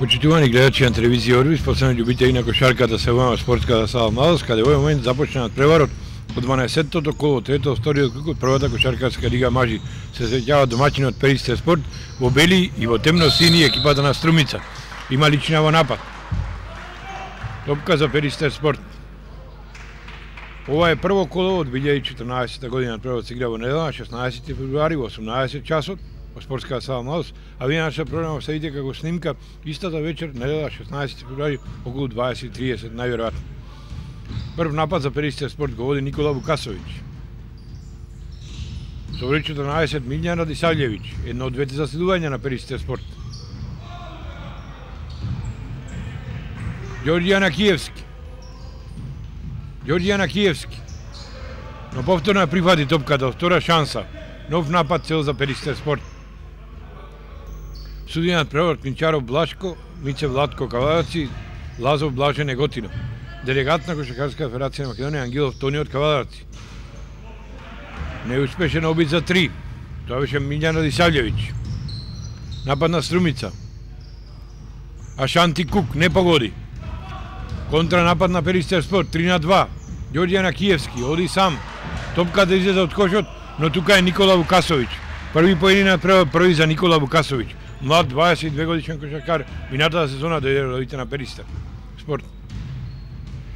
Почитувани гледачи на телевизија Орбис, посебно љубители на кошарката се војна спортската сала Младост, каде во момент започна преварот од 12-тото коло, третото, вториот круг од првата кошаркарска лига мажи. Се среќава домаќинот Перистер спорт во бели и во темно-сини екипата на Струмица. Има лична во напад. Топка за Перистер спорт. Ова е прво коло од 2014 година. Првот се игра во недела, 16 февруари, во 18 часот, во спортската сала Младост, а вие нашата програма следите како снимка истата вечер, недела, 16 февруари, околу 20:30, најверојатно. Прв напад за Перистер спорт го води Никола Вукасовиќ. Со број 14 Милјан Радисављевиќ, едно од двете заседувања на Перистер спорт. Ѓорѓијан Акиевски. Но повторно прифати топката, втора шанса. Нов напад цел за Перистер спорт. Судијанат превод Клинчаров Блашко, Мице Владко Кавадарци, Лазов Блаже Неготино. Делегат на Кошаркарска федерација на Македонија Ангелов Тони од Кавадарци. Неуспешен обид за 3. Тоа беше Милјан Радисављевиќ. Напад на Струмица. Ашанти Кук не погоди. Контранапад на Перистер спорт 3-2. Ѓорѓијан Акиевски оди сам. Топката излезе од кошот, но тука е Никола Вукасовиќ. Први поединок први за Никола Вукасовиќ. Млад 22 годишен кошаркар, минатата сезона дојде родите на Перистер спорт.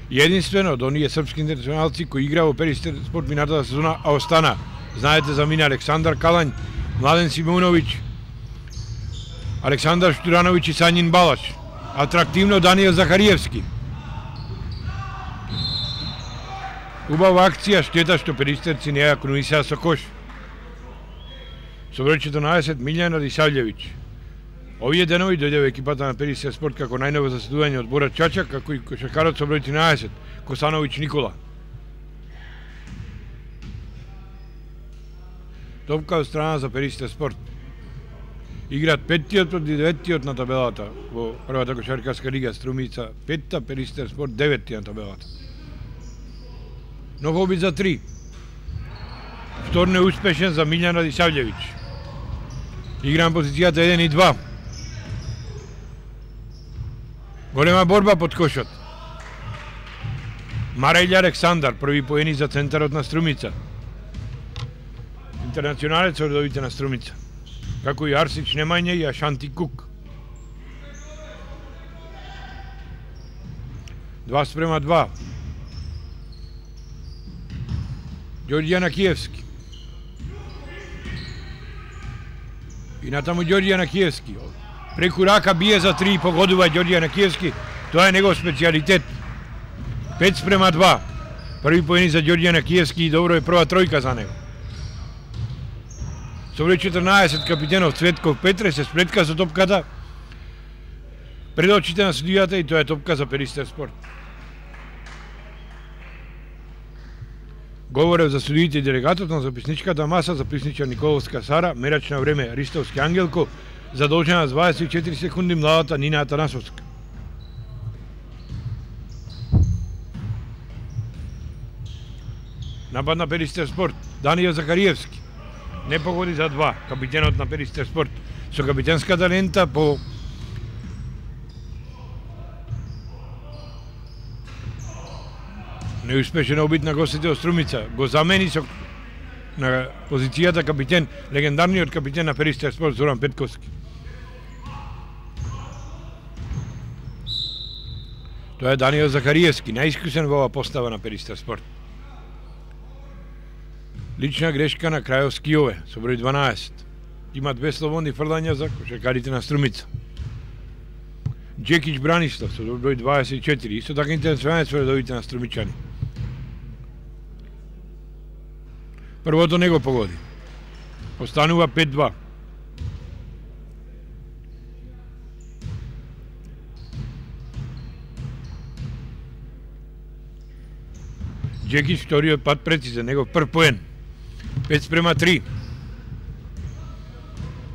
Единствено од оние српски интернационалци кои игра во Перистер спорт минатата сезона, а остана. Знаете за мина Александар Калањ, Младен Симуновиќ, Александар Штурановиќ и Сањин Балаш. Атрактивно Даниел Захариевски. Убава акција, штета што перистерци не ја конуисаа со кош. Со број 14 Милјан Радисављевиќ. Овие денови дојде во екипата на Перистер спорт како најново заседување од Борат Чачак, како и кошаркарот со број 13 Косановиќ Никола. Топка од страна за Перистер спорт. Играат 5-тиот од 9-тиот на табелата во првата кошаркарска лига Струмица 5-та, Перистер спорт 9-ти на табелата. Нов обид за 3. Втор неуспешен за Милјан Радисављевиќ. Игра на позицијата 1 и 2. Голема борба под кошот. Марајле Александар, први поени за центарот на Струмица. Интернационалец од редовите на Струмица. Како и Арсич Немања и Ашанти Кук. 2:2. Ѓорѓијан Акиевски. И натаму Ѓорѓијан Акиевски. Преку рака бие за 3 и погодува Ѓорѓијан Акиевски. Тоа е негов специјалитет. 5:2. Први поени за Ѓорѓијан Акиевски и добро е прва тројка за него. Со број 14 капитенов Цветков Петре се сплетка со топката пред очите на судијата и тоа е топка за Перистер спорт. Говорев за судиите и делегатот на записничката маса, записничар Николовска Сара, мерач на време Ристовски Ангелко, задолжена с 24 секунди младата Нина Атанасовска. Напад на Перистер спорт, Даниел Захариевски. Не погоди за 2, капитенот на Перистер спорт. Со капитенската лента по неуспешен обид на гостите од Струмица. Го замени со на позицијата капитен, легендарниот капитен на Перистер спорт Зоран Петковски. Тоа е Даниел Захариевски, најискусен во оваа постава на Перистер спорт. Лична грешка на Крајовски Јове, со број 12. Има 2 слободни фрлања за кошаркарите на Струмица. Джекич Бранислав, со број 24. Исто така интернационалец во редовите на Струмичани. Првото не го погоди. Останува 5-2. Джекич вториот пат прецизен, негов прв поен. 5:3.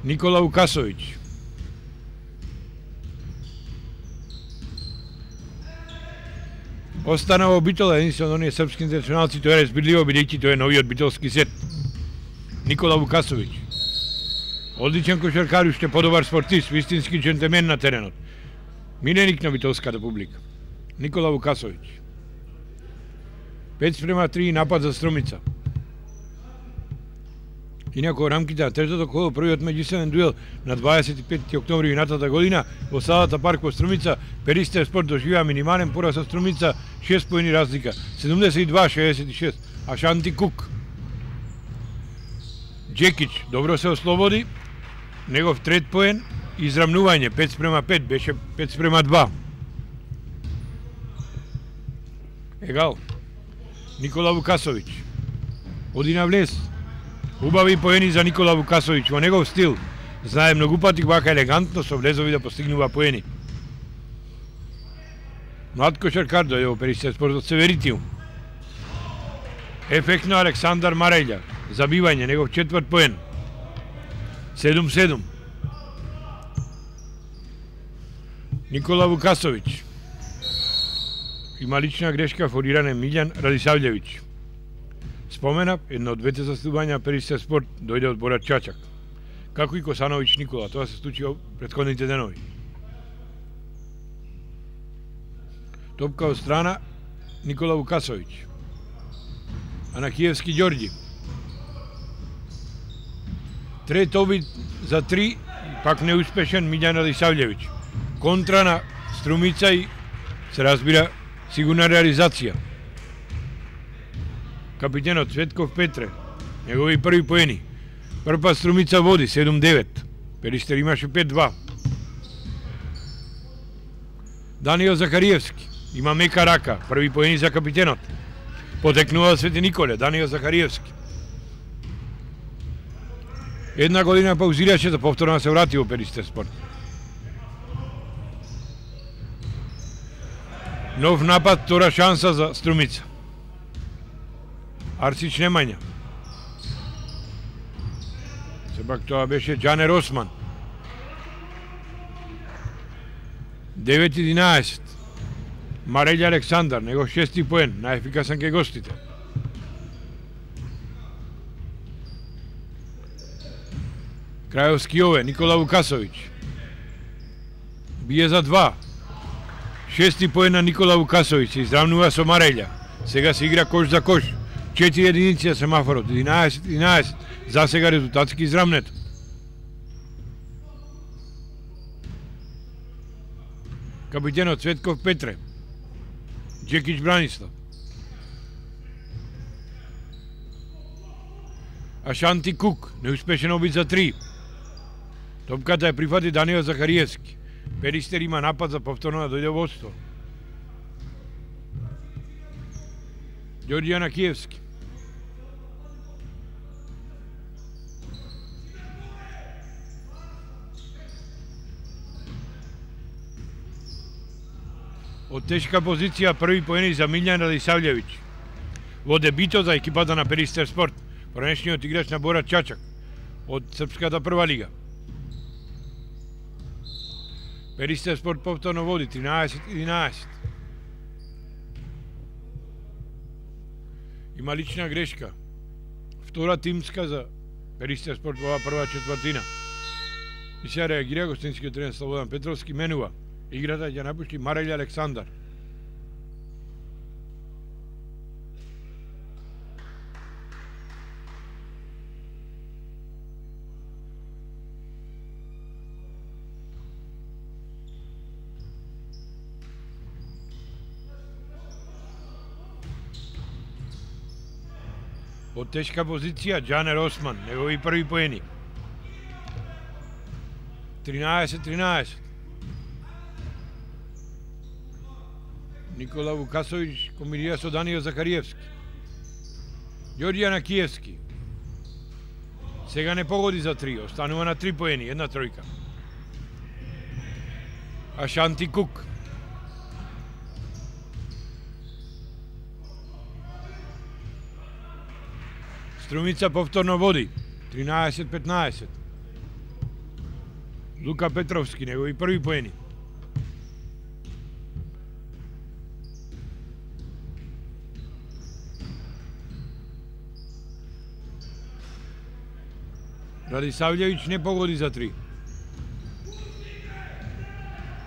Никола Вукасовиќ. Остана во битола единствено оние српски интернационалци, тоа е разбирливо бидејќи тоа е новиот битолски сет. Никола Вукасовиќ. Одличен кошаркар, уште подобар спортист, вистински джентелмен на теренот. Миленик на битовската публика. Никола Вукасовиќ. 5:3 напад за Струмица. Инаку рамките на третото коло, првиот меѓусебен дуел на 25 октомври минатата година во салата парк во Струмица, Перистер Спорт доживеа минимален пораз со Струмица, 6 поени разлика, 72-66, а Шанти Кук. Джекич добро се ослободи, негов трет поен, израмнување 5:5, беше 5:2. Егал. Никола Вукасовиќ. Оди на влез. Убави поени за Никола Вукасовиќ во негов стил. Знае многу пати вака елегантно со влезови да постигнува поени. Млад кошаркар дојде во Перистер Спорт од Северитиум. Ефектно Александар Марејлја. Забивање, негов четврт поен. 7:7. Никола Вукасовиќ. Има лична грешка фориране Милјан Радисављевиќ. Споменав, едно од двете заступања на Перистер Спорт дојде од Борат Чачак. Како и Косановиќ Никола, тоа се случи во претходните денови. Топка од страна Никола Вукасовиќ. Анакиевски Ѓорѓи. Трет обид за 3, пак неуспешен Милјан Радисављевиќ. Контра на Струмица и се разбира сигурна реализација. Капитенот Цветков Петре, негови први поени. Прва Струмица води 7:9. Перистер имаше 5:2. Даниел Захариевски има мека рака, први поени за капитенот. Потекнува Свети Николе, Даниел Захариевски. Една година паузираше за повторно да се врати во Перистер Спорт. Нов напад, втора шанса за Струмица. Арсич Немања. Сепак тоа беше Џанер Осман. 9:11. Марејлја Александар, него 6 поен, најефикасен ке гостите. Крајовски Ове, Никола Вукасовиќ. Бие за 2. 6 поен на Никола Вукасовиќ, се изравнува со Марејлја. Сега се игра кош за кош. 4 единици на семафорот, 11-11. За сега резултатски израмнето. Капитенот Цветков Петре. Джекич Бранислав. Ашанти Кук, неуспешен обид за 3. Топката ја прифати Даниел Захариевски. Перистер има напад за повторно да дојде во водство. Ѓорѓи Анакиевски. Од тешка позиција први поени за Милјан Радисављевиќ. Во дебитот за екипата на Перистер Спорт, пранешниот играч на Борат Чачак од Српската прва лига. Перистер Спорт повторно води 13-11. Има лична грешка. Втора тимска за Перистер Спорт во оваа прва четвртина. И сега реагира гостинскиот тренер Слободан Петровски, менува играта ќе напушти Марејлја Александар. Од тешка позиција Џанер Осман, негови први поени. 13-13. Никола Вукасовиќ комбинира со Даниел Захариевски. Ѓорѓи Анакиевски. Сега не погоди за 3, останува на 3 поени, една тројка. Ашанти Кук. Струмица повторно води, 13-15. Лука Петровски, негови први поени. Радисављевиќ не погоди за 3.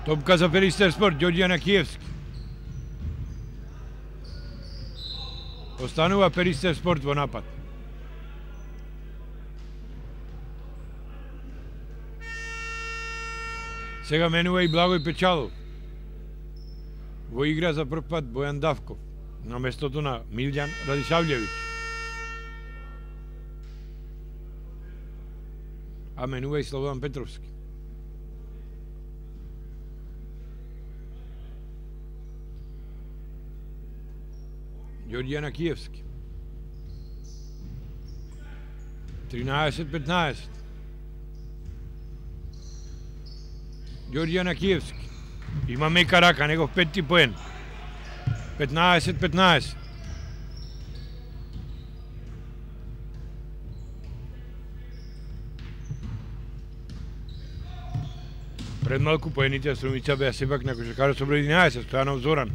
Топка за Перистер Спорт, Ѓорѓе Накиевски. Останува Перистер Спорт во напад. Сега менува и Благој Печалов. Во игра за прв пат Бојан Давков на местото на Милјан Радишављевиќ. А менува и Слободан Петровски. Ѓорѓе Накиевски. 13-15. Ѓорѓе Накиевски. Има мека рака, негов петти поен. 15-15. Пред малку поените Струмица беа сепак на кошаркарот со број 11, Стојанов Зоран.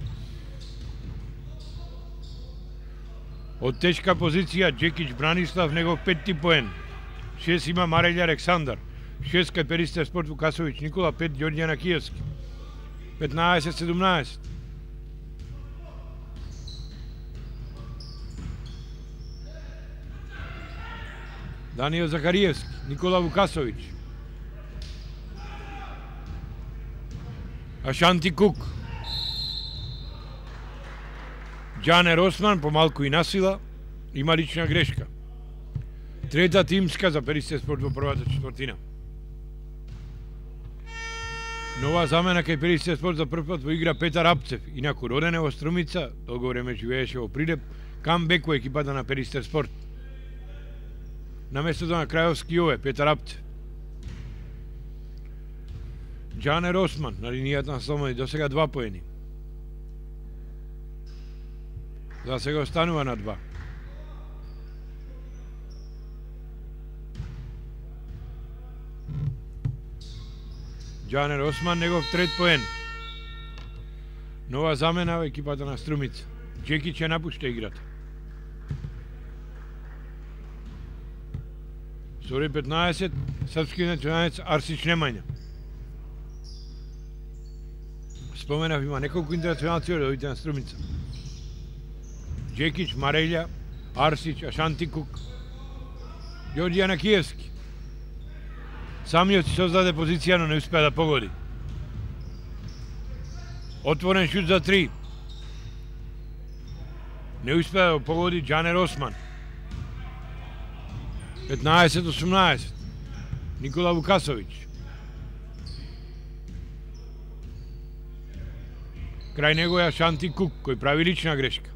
Од тешка позиција Джекич Бранислав, негов петти поен. 6 има Марелја Александар. 6 кај Перистер Спорт Вукасовиќ Никола, 5 Ѓорѓе Накиевски. 15-17. Даниел Захариевски, Никола Вукасовиќ. Ашанти Кук. Џанер Осман, помалку и насила, има лична грешка. Трета тимска за Перистер Спорт во првата четвртина. Нова замена кај Перистер Спорт за прв пат во игра Петар Апцев, инаку роден е во Струмица, долго време живееше во Прилеп, камбек во екипата на Перистер Спорт. На местото на Крајовски Јове, Петар Апцев. Џанер Осман на линијата на слободни, до сега 2 поени. За сега останува на 2. Џанер Осман, негов трет поен. Нова замена во екипата на Струмица. Джекич ја напушта играта. Сори 15, српски националец Арсич Немања. Споменав, има неколку интернационалци од овите на Струмица. Джекич, Марелја, Арсич, Ашанти Кук, Ѓорѓе Накиевски. Самиот си создаде позиција, но не успеа да погоди. Отворен шут за 3. Не успеа да погоди Џанер Осман. 15-18. Никола Вукасовиќ. Крај него е Ашанти Кук, кој прави лична грешка.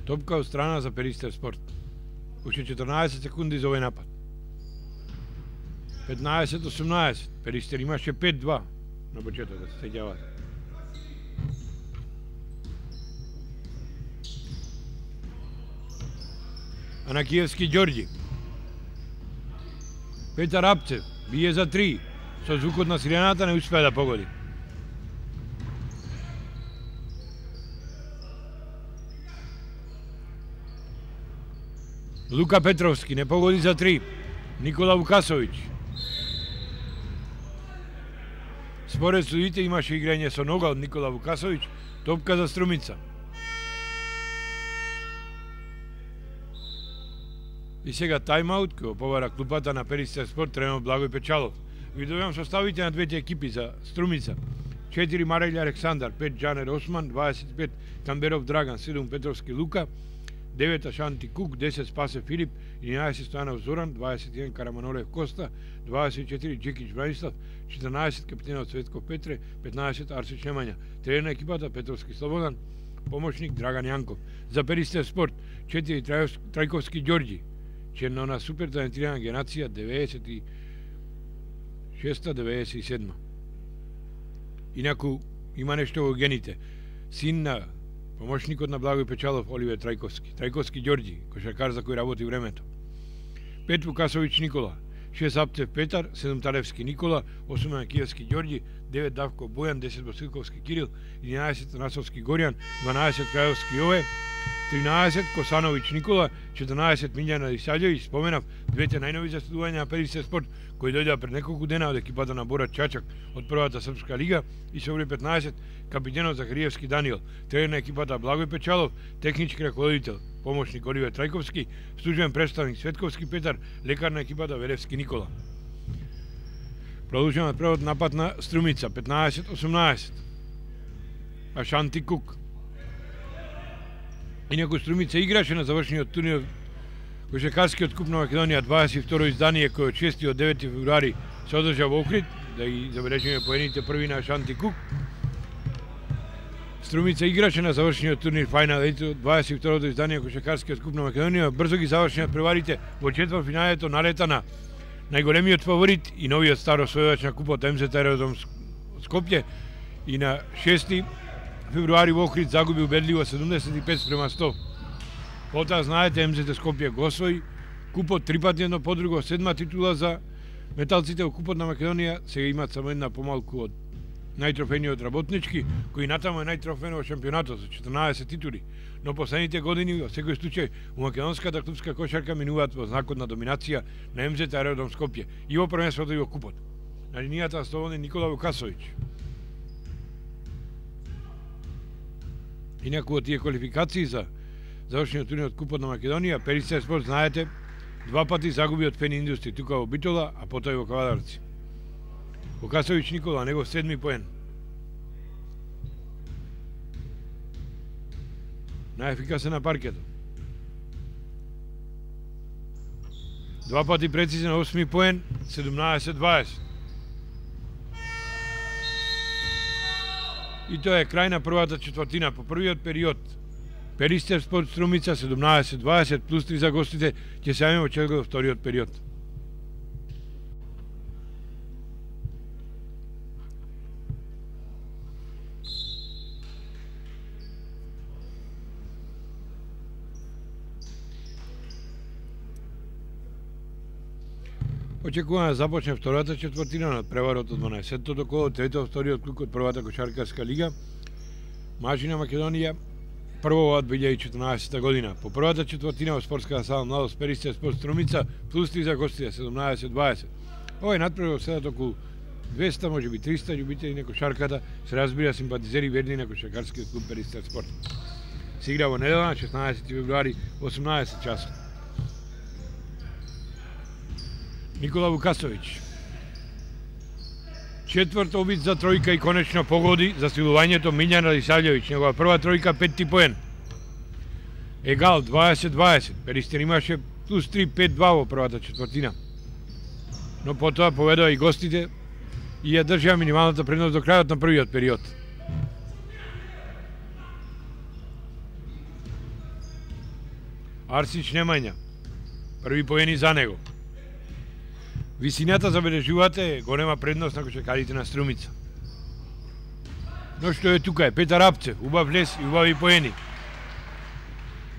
Топка од страна за Перистер Спорт. Уште 14 секунди за овој напад. 15-18. Перистер имаше 5-2 на почеток, да се сеќавате. Накиевски Ѓорѓи. Петар Апцев бие за 3. Со звукот на сирената не успеа да погоди. Лука Петровски не погоди за 3. Никола Вукасовиќ. Според судите имаше играње со нога од Никола Вукасовиќ, топка за Струмица. И сега тайм-аут кој повара клупата на Перистер Спорт, тренер Благој Печалов. Ви добивам составите на двете екипи за Струмица. 4 Марелја Александар, 5 Џанер Осман, 25 Камберов Драган, 7 Петровски Лука, 9 Ашанти Кук, 10 Спасе Филип, 11 Стојанов Зоран, 21 Караманолев Коста, 24 Джекич Бранислав, 14 капитенот Цветко Петре, 15 Арсич Немања. Тренер на екипата Петровски Слободан, помошник Драган Јанков. За Перистер Спорт 4 Трајковски Ѓорѓи, черно на супер талентирана генерација 96-97. Инаку има нешто во гените. Син на помошникот на Благој Печалов Оливер Трајковски. Трајковски Ѓорѓи, кошаркар за кој работи времето. 5 Вукасовиќ Никола, 6 Апцев Петар, 7 Талевски Никола, 8 Киевски Ѓорѓи, 9 Давко Бојан, 10 Василковски Кирил, 11 Насовски Горјан, 12 Крајовски Јове, 13 Косановиќ Никола, 14 Милјана Исаѓевиќ. Споменав двете најнови заседувања на Перистер спорт кои дојдоа пред неколку дена од екипата на Борат Чачак од првата српска лига, и со број 15 капитенот Захариевски Даниел, тренер на екипата Благој Печалов, технички раководител помошник Оливер Трајковски, службен представник Светковски Петар, лекар на екипата Велевски Никола. Продолжуваме превод напад на Струмица, 15-18. Ашанти Кук. Инаку Струмица играше на завршениот турнир Кошаркарскиот куп на Македонија 22 издание кој од 6 до 9 февруари се одржа во Охрид, да ги забележиме поените први на Ашанти Кук. Струмица играше на завршениот турнир Фајнал 22 издание Кошаркарскиот куп на Македонија, брзо ги завршија преварите во четвртфиналето налета на најголемиот фаворит и новиот старо освојувач на купот МЗТ Аеродром Скопје, и на 6 февруари во Охрид загуби убедливо 75-100. Потоа знаете МЗТ Скопје го освои купот три пати едно по друго, 7 титула за металците во купот на Македонија. Сега имаат само една помалку од најтрофениот работнички, кој натаму е најтрофен во шампионатот со 14 титули. Но последните години во секој случај у македонската клубска кошарка минуваат во знакот на доминација на МЗТ Аеродром Скопје и во првенството и во купот. На линијата слободен Никола Вукасовиќ. Инаку од тие квалификации за завршениот турнир од купот на Македонија, Перистер спорт, знаете, два пати загуби од Пен Индустри, тука во Битола, а потоа и во Кавадарци. Вукасовиќ Никола, негов 7 поен. Најефикасен на паркетот. Два пати прецизен 8 поен, 17-20. И тоа е крај на првата четвртина. По првиот период Перистер спорт Струмица 17-20 плюс 3 за гостите, ќе се јавиме во чергот во вториот период. Очекуваме да започне втората четвртина на преварот од 12-тото коло, третото вториот круг од првата кошаркарска лига. Мажи на Македонија, прво од 2014 година. По првата четвртина во спортската сала Младост Перистер спорт Струмица, плюс 3 за гостите, 17-20. Овој надпревар седат околу 200, може би 300 љубители на кошарката, се разбира симпатизери верни на кошаркарскиот клуб Перистер спорт. Се игра во недела на 16 февруари 18 часот. Никола Вукасовиќ. Четврт обид за тројка и конечно погоди за силувањето Милјана Исаѓевиќ. Негова прва тројка, 5 поен. Егал 20-20. Перистер имаше плюс 3, 5-2 во првата четвртина. Но потоа поведоа и гостите и ја држаа минималната предност до крајот на првиот период. Арсич Немања. Први поени за него. Висината, забележувате, голема предност на кошаркарите на Струмица. Но што е тука е Петар Апцев, убав лес и убави поени.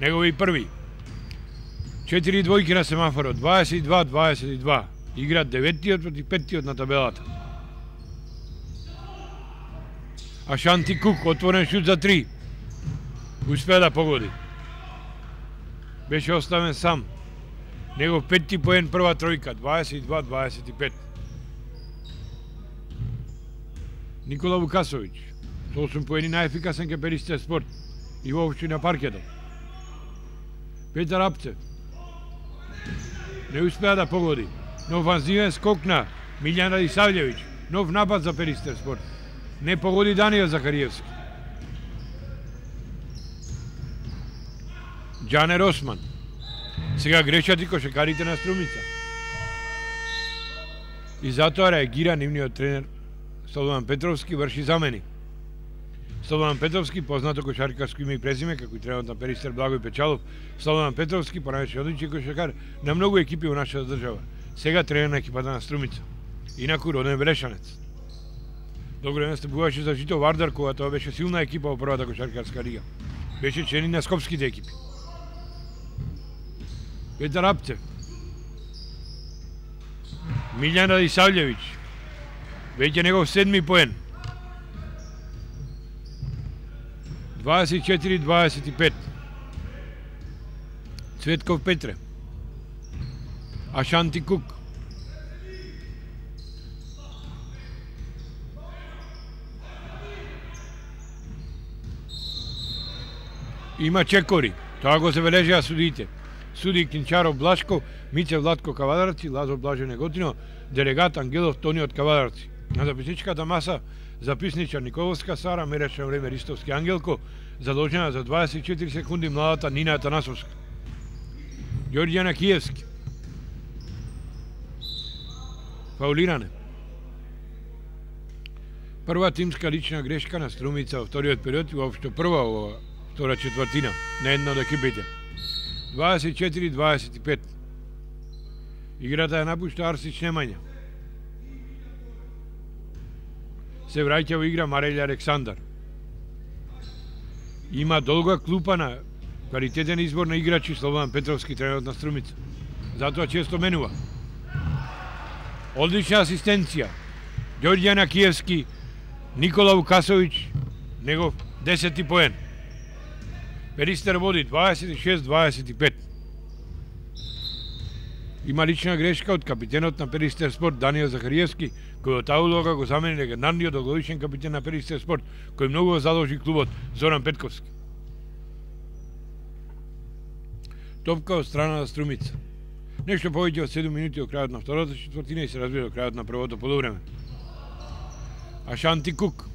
Негови први. 4 двојки на семафорот, 22-22. Играат 9-тиот против 5-тиот на табелата. Ашанти Кук, отворен шут за 3. Успеа да погоди. Беше оставен сам. Негов 5-ти поен прва тројка, 22-25. Никола Вукасовиќ, со 8 поени најефикасен ке Перистер спорт и воопшто на паркетот. Петар Апцев не успеа да погоди, но офанзивен скок на Милјана Исаѓевиќ, нов напад за Перистер спорт. Не погоди Даниел Захариевски. Џанер Осман. Сега грешат и кошаркарите на Струмица. И затоа реагира нивниот тренер Слободан Петровски, врши замени. Слободан Петровски, познато кошаркарско име и презиме, како и тренерот на Перистер Благој Печалов, Слободан Петровски, понајше одличен кошаркар на многу екипи во нашата држава. Сега тренер на екипата на Струмица. Инаку роден Велешанец. Долго време настапуваше за Жито Вардар, кога тоа беше силна екипа во првата кошаркарска лига. Беше член на скопските екипи. Петар Апцев. Милјан Радисављевиć. Веќе негов 7. поен. 24-25. Цветков Петре. Ашанти Кук. Има чекори. Тоа го забележаа судиите. Суди Кинчаров Блашков, Мице Владко Кавадарци, Лазо Блаже Неготино, делегат Ангелов Тони од Кавадарци. На записничката маса записничар Николовска Сара, мерачно време Ристовски Ангелко, задолжена за 24 секунди младата Нина Атанасовска. Ѓорѓана Киевски. Фаулиране. Прва тимска лична грешка на Струмица во вториот период и воопшто прва во втора четвртина на една од екипите. 24-25. Играта ја напушта Арсич Немања. Се враќа во игра Марелја Александар. Има долга клупа на квалитетен избор на играчи Слободан Петровски, тренерот на Струмица. Затоа често менува. Одлична асистенција. Ѓорѓана Киевски, Никола Вукасовиќ, негов 10. поен. Перистер води 26-25. Има лична грешка од капитенот на Перистер Спорт Даниел Захариевски, кој од таа улога го замени легендарниот долгогодишен капитен на Перистер Спорт, кој многу задолжи клубот Зоран Петковски. Топка од страна на Струмица. Нешто повеќе од 7 минути од крајот на втората четвртина и се разбира од крајот на првото полувреме. Ашанти Кук.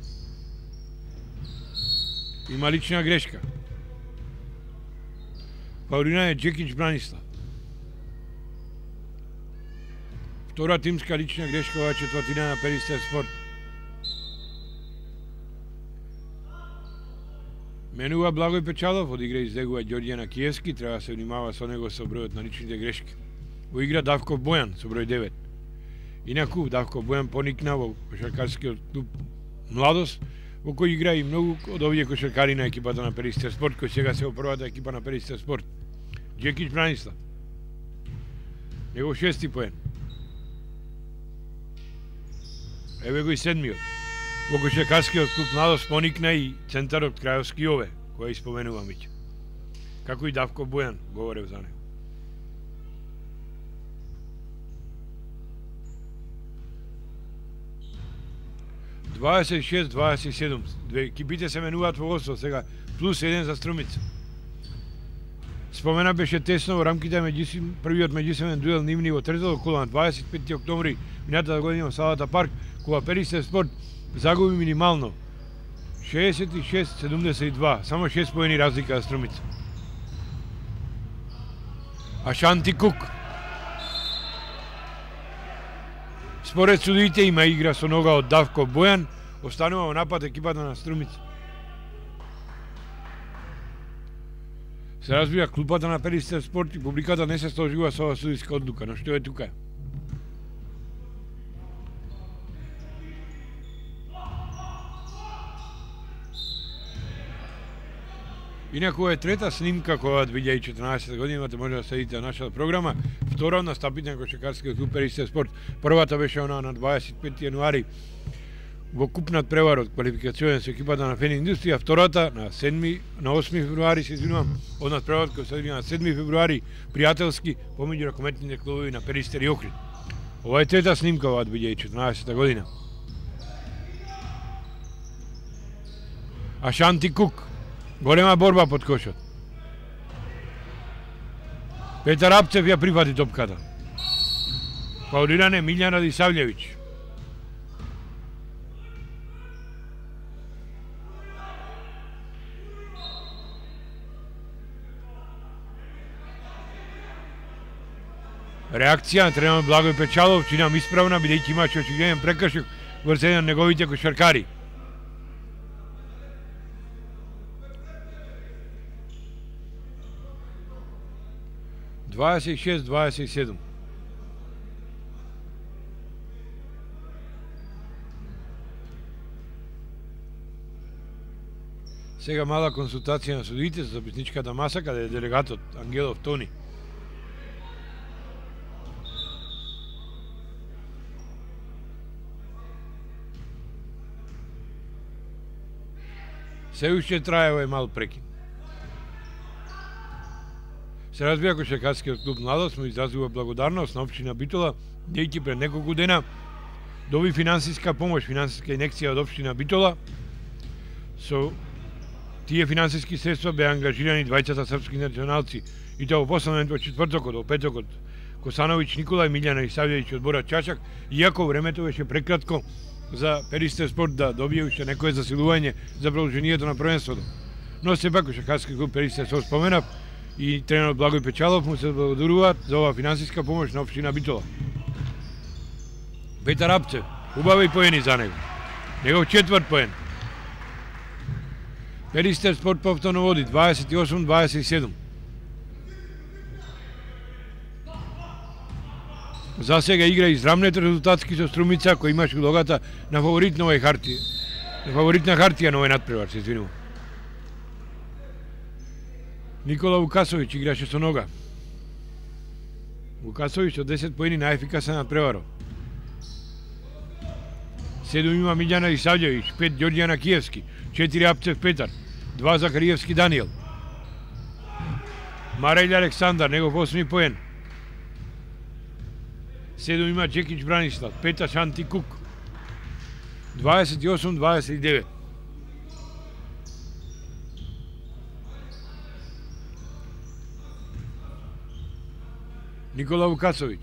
Има лична грешка. Фаулиран е Джекич Бранислав. Втора тимска лична грешка оваа четвртина на Перистер Спорт. Менува Благој Печалов, од игра излегува Ѓорѓана Киевски, треба се внимава со него со бројот на личните грешки. Во игра Давков Бојан со број 9. Инаку Давков Бојан поникна во кошаркарскиот клуб Младост, во кој игра и многу од овие кошаркари на екипата на Перистер Спорт, кој сега се во првата екипа на Перистер Спорт. Джекич Бранислав. Него 6. поен. Еве го и 7. Во кошаркарскиот клуб Младост поникна и центарот Крајовски Јове, која испоменувам веќе. Како и Давко Бојан, говорев за него. – 26-27. Две екипите се менуваат во водство сега, плюс 1 за Струмица. Спомена беше тесно во рамките првиот меѓусебен дуел нивни во третото коло на 25 октомври минатата година во салата Парк, кога Перистер Спорт загуби минимално 66-72, само 6 поени разлика за Струмица. Ашанти Кук. Според судиите има игра со нога од Давко Бојан, останува во напад екипата на Струмица. Се разбира, клубата на Перистер Спорт и публиката не се сложува со оваа судиска одлука, но што е тука? Инаку е трета снимка која од 2014 година имате може да следите на нашата програма. Втора на стапите на кошаркарскиот клуб Перистер Спорт. Првата беше она на 25 јануари во купнат превар од квалификацијен со екипата на Фен Индустрија. Втората на 8 февруари, се извинувам, однат превар кој се одвија на 7 февруари, пријателски помеѓу ракометните клубови на Перистер и Охрид. Ова е трета снимка од 2014 година. Ашанти Кук. Голема борба под кошот. Петар Апцев ја прифати топката. Фаулиран е Милјан Радисављевиќ. Реакција на тренерот Благој Печалов, чинам исправна, бидејќи имаше очигледен прекршок врз еден од неговите кошаркари. – 26-27. Сега мала консултација на судиите за записничката маса, каде е делегатот Ангелов Тони. Се уште трае овој мал прекин. Се разбира кошаркарскиот клуб Младост му изразува благодарност на општина Битола, дејќи пред неколку дена доби финансиска помош, финансиска инекција од општина Битола. Со тие финансиски средства беа ангажирани двајцата српски националци, и тоа во последен од четвртокот, од петокот, Косановиќ Никола и Милјана Исављевиќ од Бора Чачак, иако времето беше прекратко за Перистер спорт да добие уште некое засилување за продолжението на првенството. Но сепак кошаркарски клуб Перистер спорт споменав и тренерот Благој Печалов му се благодаруваат за оваа финансиска помош на општина Битола. Петар Апцев, убави поени за него. Негов четврт поен. Перистер спорт повторно води 28-27. За сега игра израмнет резултатски со Струмица, кој имаше улогата на фаворит на овој хартија. Фаворитна хартија на овој надпревар, се извинувам. Никола Вукасовиќ играше со нога. Вукасовиќ со 10 поени најефикасен надпреварот. 7 има Милјана Исављевиќ, 5 Ѓорѓијана Киевски, 4 Апцев Петар, 2 Захариевски Даниел. Марајле Александар, негов 8 поен. 7 има Джекич Бранислав, 5 Шанти Кук. 28-29. Никола Вукасовиќ.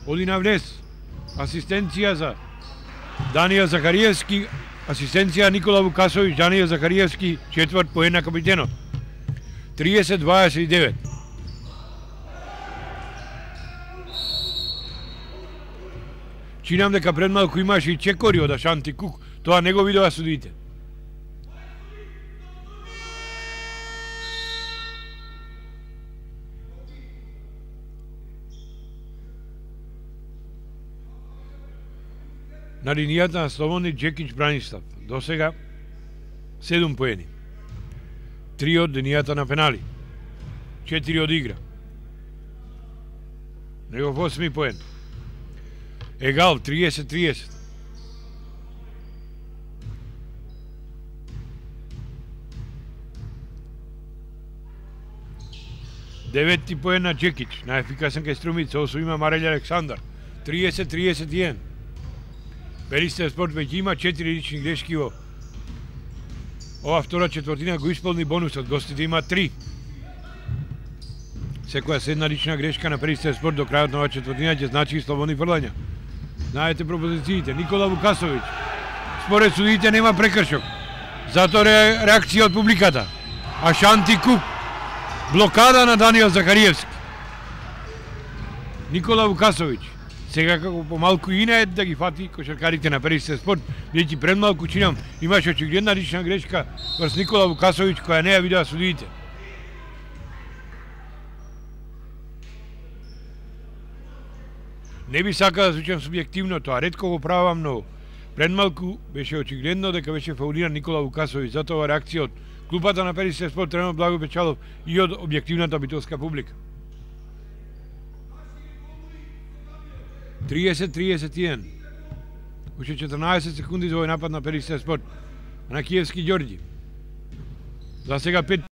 Оди на внес. Асистенција за Даниел Захариевски, асистенција Никола Вукасовиќ, Даниел Захариевски, четврт поен на капитенот. 30-29. Чинам дека пред малку имаше и чекори од Ашанти Кук, тоа не го видоа судите. На линијата на слободни Джекич Бранислав, до сега 7 поени. 3 од линијата на пенали, 4 од игра. Негов 8 поен. Егал 30-30. Деветти поен на Джекич, најефикасен кај Струмица, освоима Марајле Александар, 30-31. Перистер спорт веќе има 4 лични грешки во ова втора четвртина, го исполни бонусот, гостите има 3. Секоја седна лична грешка на Перистер спорт до крајот на оваа четвртина ќе значи и слободни фрлања. Знаете пропозициите. Никола Вукасовиќ. Според судиите нема прекршок. Затоа реакција од публиката. Ашанти Кук. Блокада на Даниел Захариевски. Никола Вукасовиќ. Сега како помалку и не да ги фати кошаркарите на Перистер спорт, бидејќи пред малку чинам имаше очигледна лична грешка врз Никола Вукасовиќ која не ја видоа судиите. Не би сакал да звучам субјективно, тоа ретко го правам, но пред малку беше очигледно дека беше фаулиран Никола Вукасовиќ, затоа реакција од клубата на Перистер спорт, тренерот Благој Печалов и од објективната битолска публика. 30-31. Уште 14 секунди за овој напад на Перистер спорт. На Киевски Ѓорѓи. За сега 5